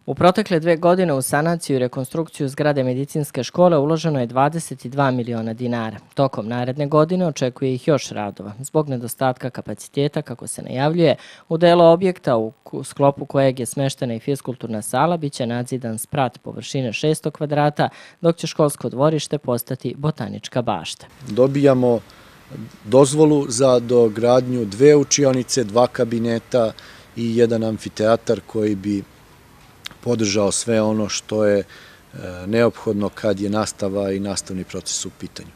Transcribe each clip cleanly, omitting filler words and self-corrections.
U protekle 2 godine u sanaciju i rekonstrukciju zgrade medicinske škole uloženo je 22 miliona dinara. Tokom naredne godine očekuje ih još radova. Zbog nedostatka kapaciteta, kako se najavljuje, u delu objekta u sklopu kojeg je smeštena i fiskulturna sala biće nadzidan sprat površine 600 kvadrata, dok će školsko dvorište postati botanička bašta. Dobijamo dozvolu za dogradnju 2 učionice, 2 kabineta i 1 amfiteatar koji bi podržao sve ono što je neophodno kad je nastava i nastavni proces u pitanju.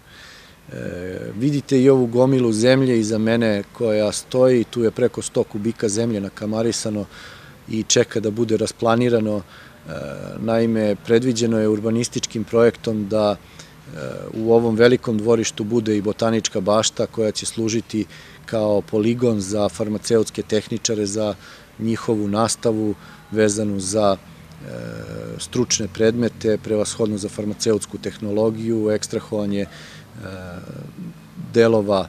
Vidite i ovu gomilu zemlje iza mene koja stoji, tu je preko 100 kubika zemlje nakamarisano i čeka da bude rasplanirano. Naime, predviđeno je urbanističkim projektom da u ovom velikom dvorištu bude i botanička bašta koja će služiti kao poligon za farmaceutske tehničare, za njihovu nastavu vezanu za stručne predmete, prevashodno za farmaceutsku tehnologiju, ekstrahovanje delova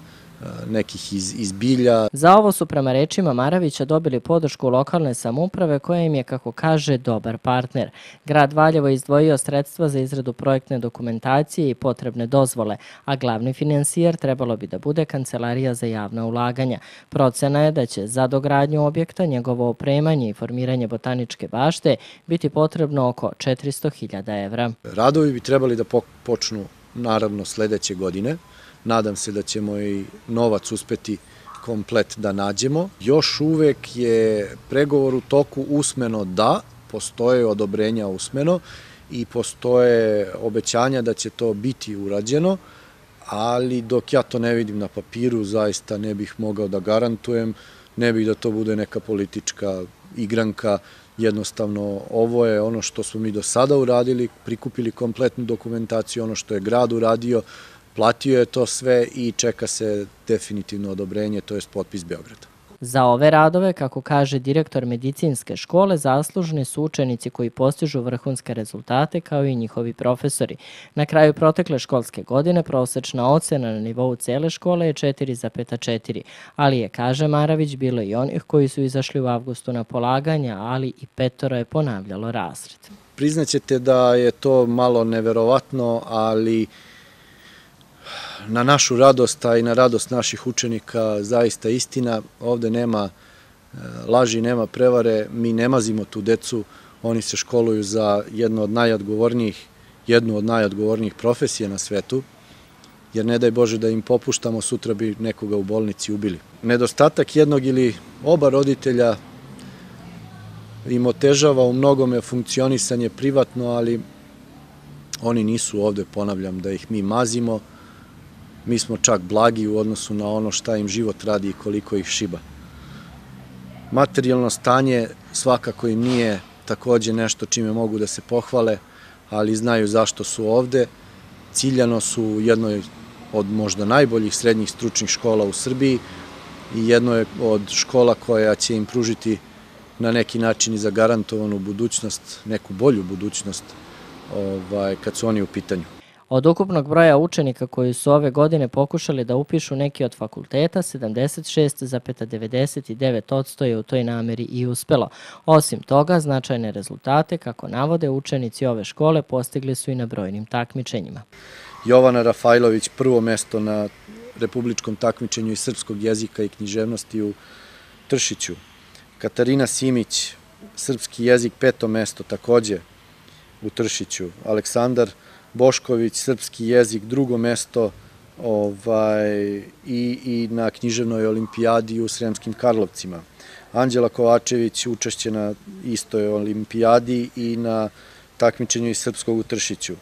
nekih iz bilja. Za ovo su prema rečima Maravića dobili podršku lokalne samouprave koja im je, kako kaže, dobar partner. Grad Valjevo je izdvojio sredstva za izradu projektne dokumentacije i potrebne dozvole, a glavni finansijer trebalo bi da bude Kancelarija za javna ulaganja. Procena je da će za dogradnju objekta, njegovo opremanje i formiranje botaničke bašte biti potrebno oko 400.000 evra. Radovi bi trebali da počnu naravno sledeće godine. Nadam se da ćemo i novac uspeti komplet da nađemo. Još uvek je pregovor u toku usmeno da, postoje odobrenja usmeno i postoje obećanja da će to biti urađeno, ali dok ja to ne vidim na papiru, zaista ne bih mogao da garantujem, ne bih da to bude neka politička igranka. Jednostavno, ovo je ono što smo mi do sada uradili, prikupili kompletnu dokumentaciju, ono što je grad uradio, platio je to sve i čeka se definitivno odobrenje, to je potpis Beograda. Za ove radove, kako kaže direktor medicinske škole, zaslužni su učenici koji postižu vrhunske rezultate kao i njihovi profesori. Na kraju protekle školske godine prosečna ocena na nivou cele škole je 4,4, ali je, kaže Maravić, bilo i onih koji su izašli u avgustu na polaganja, ali i 5 je ponavljalo razred. Priznaćete da je to malo neverovatno, ali na našu radost, a i na radost naših učenika, zaista istina. Ovde nema laži, nema prevare, mi ne mazimo tu decu, oni se školuju za jednu od najodgovornijih profesija na svetu, jer ne daj Bože da im popuštamo, sutra bi nekoga u bolnici ubili. Nedostatak jednog ili oba roditelja im otežava u mnogome funkcionisanje privatno, ali oni nisu ovde, ponavljam, da ih mi mazimo. Mi smo čak blagi u odnosu na ono šta im život radi i koliko ih šiba. Materijalno stanje svakako im nije takođe nešto čime mogu da se pohvale, ali znaju zašto su ovde. Ciljano su u jednoj od možda najboljih srednjih stručnih škola u Srbiji i jednoj od škola koja će im pružiti na neki način i zagarantovanu budućnost, neku bolju budućnost kad su oni u pitanju. Od ukupnog broja učenika koji su ove godine pokušali da upišu neki od fakulteta, 76,99% je u toj nameri i uspelo. Osim toga, značajne rezultate, kako navode učenici ove škole, postigli su i na brojnim takmičenjima. Jovana Rafajlović 1. mesto na republičkom takmičenju iz srpskog jezika i književnosti u Tršiću. Katarina Simić, srpski jezik 5. mesto takođe u Tršiću. Aleksandar Bošković, srpski jezik 2. mesto i na književnoj olimpijadi u Sremskim Karlovcima. Anđela Kovačević učešće na istoj olimpijadi i na takmičenju iz srpskog u Tršiću.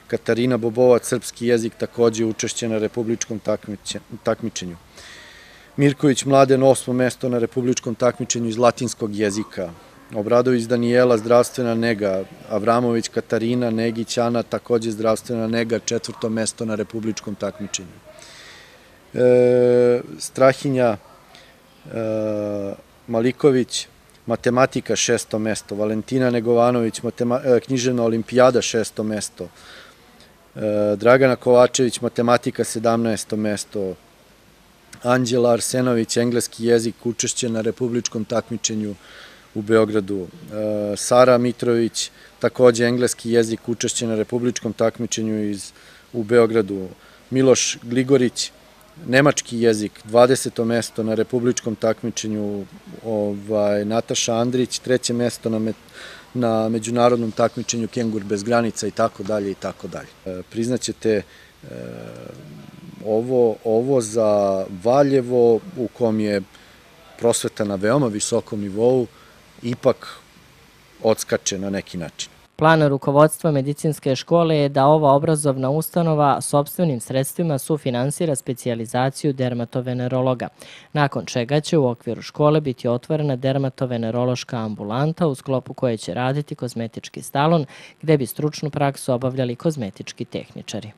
Katarina Bobovac, srpski jezik, takođe učešće na republičkom takmičenju. Mirković Mladen 8. mesto na republičkom takmičenju iz latinskog jezika. Obradović Danijela, zdravstvena nega. Avramović Katarina, Negić Ana, takođe zdravstvena nega, 4. mesto na republičkom takmičenju. Strahinja Maliković, matematika 6. mesto. Valentina Negovanović, književna olimpijada 6. mesto. Dragana Kovačević, matematika 17. mesto. Anđela Arsenović, engleski jezik, učešće na republičkom takmičenju u Beogradu, Sara Mitrović, takođe engleski jezik, učešće na republičkom takmičenju u Beogradu, Miloš Gligorić, nemački jezik, 20. mesto na republičkom takmičenju, Nataša Andrić, 3. mesto na međunarodnom takmičenju Kengur bez granica i tako dalje i tako dalje. Priznaćete, ovo za Valjevo, u kom je prosveta na veoma visokom nivou, ipak odskače na neki način. Plan rukovodstva medicinske škole je da ova obrazovna ustanova sopstvenim sredstvima sufinansira specijalizaciju dermatovenerologa, nakon čega će u okviru škole biti otvorena dermatovenerološka ambulanta u sklopu koje će raditi kozmetički salon, gde bi stručnu praksu obavljali kozmetički tehničari.